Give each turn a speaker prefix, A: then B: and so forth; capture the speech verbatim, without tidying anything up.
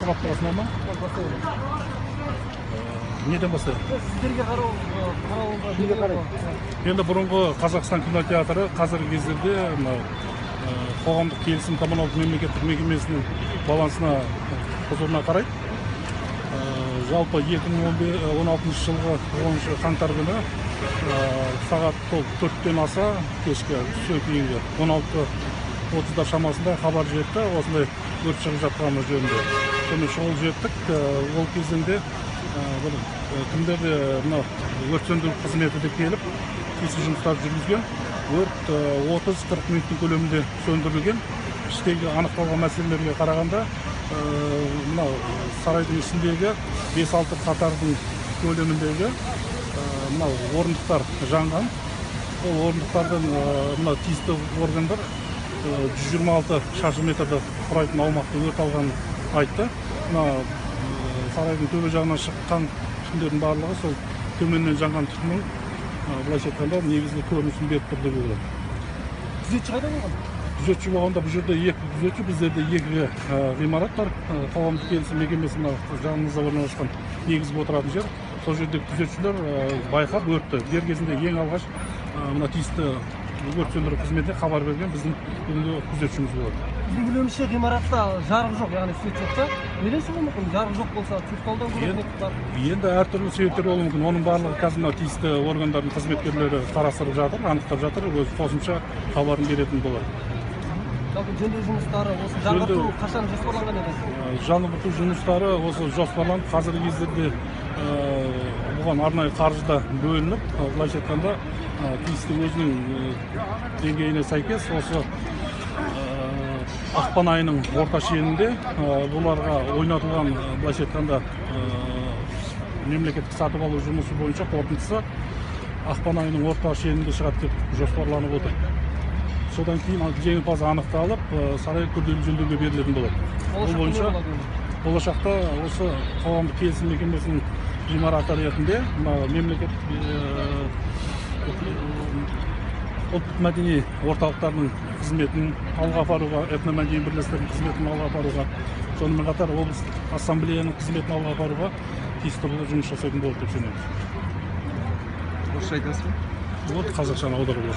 A: Сабап тұрасына ма? Неден бастайды?
B: Сіздерге қарауға неге қарайды?
A: Енді бұрынғы Қазақстан кинотеатры қазіргі кездерде қоғамдық келісім коммуналдық мемлекеттік мекемесінің балансына құзырына қарайды. Жалпы екі мың он алтыншы жылғы оныншы қаңтар күні сағат төрттен аса кешкі түске кейінгі он алты отыздар шамасында хабар жетті, осындай өрт шығып жатқаны жөнінде. Соны шұғыл жеттік. Ол кезінде кімдер өрт сөндіру қызметі де келіп, тиісті жұмыстар жүргізген. Өрт отыз қырық минуттың көлемінде сөндірілген. Іштегі анықталған мәселелерге қарағанда, мынау сарайдың ішіндегі бес алты қатардың көлеміндегі мынау орындықтар жанған. Ол орындықтардан мынау тиісті органдар жүз жиырма алты шаршы метрді құрайтын аумақты өрт алғанын айтты. Сарайдың төбе жағынан шыққан түтіндердің барлығы сол төменнен жанған түтіннің былайша айтқанда негізгі көрінісін беріп тұр деп ойлаймын.
B: Күзетші қайда болған?
A: Күзетші болғанда бұл жерде екі күзетші, біздерде екі ғимарат бар. Қоғамдық келісім мекемесінің жанымызда орналасқан негізгі отыратын жер. Сол жерде күзетшілер байқап өртті. Дер кезінде ең алғаш мына тиісті өрт сөндіру қызметіне хабар берген біздің бүгінгі күзетшіміз болады.
B: Біздің білуімізше ғимаратта жарық жоқ, яғни свет жоқ та. Неден шығуы мүмкін? Жарық жоқ болса, цифрлаудан көрінеді бар.
A: Енді әртүрлі себептер болуы мүмкін. Оның барлығы қазір мына тиісті органдардың қызметкерлері қарастырып жатыр, анықтап жатыр, өз қосымша хабарын беретін болады.
B: Жалпы жөндеу жұмыстары осы жаңғырту қашан жоспарланған еді?
A: Жаңғырту жұмыстары осы жоспарланып, қазіргі кездерде бұған арнайы қаржы да бөлініп, былайша айтқанда тиісті өзінің деңгейіне сәйкес осы ақпан айының орта шенінде бұларға ойнатылған, былайша айтқанда мемлекеттік сатып алу жұмысы бойынша қорытындысы ақпан айының орта шенінде шығады деп жоспарланып отыр. Содан кейін жеңімпаз анықталып, сарай күрделі жөндеуге берілетін болады. Ол бойынша болашақта осы қоғамдық келісім мекемесінің ғимараты ретінде мемлекеттік ұлттық мәдени орталықтарының қызметін алға апаруға, этномәдени бірлестіктердің қызметін алға апаруға, сонымен қатар облыстық ассамблеяның қызметін алға апаруға тиісті жұмыс жасайтын болады деп сенеміз.
B: Орысша айтасыз ба?
A: Вот қазақшаны аударып